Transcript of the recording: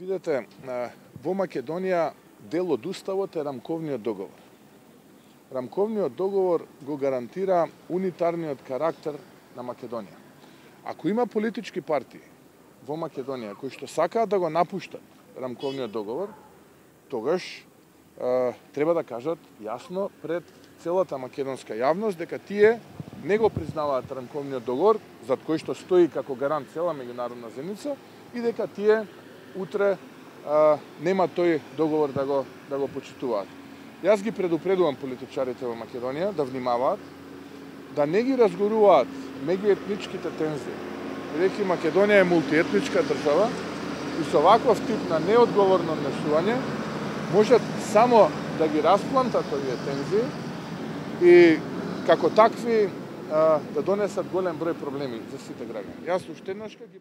Видете, во Македонија дел од уставот е рамковниот договор. Рамковниот договор го гарантира унитарниот карактер на Македонија. Ако има политички партии во Македонија кои што сакаат да го напуштат рамковниот договор, тогаш треба да кажат јасно пред целата македонска јавност дека тие не го признаваат рамковниот договор, зад кој што стои како гарант цела меѓународна заедница, и дека тие утре нема тој договор да го почитуваат. Јас ги предупредувам политичарите во Македонија да внимаваат, да не ги разгоруваат меѓуетничките тензии. Бидејќи Македонија е мултиетничка држава и со ваков тип на неодговорно однесување можат само да ги расплантат овие тензии и како такви да донесат голем број проблеми за сите граѓани. Јас уште еднаш ги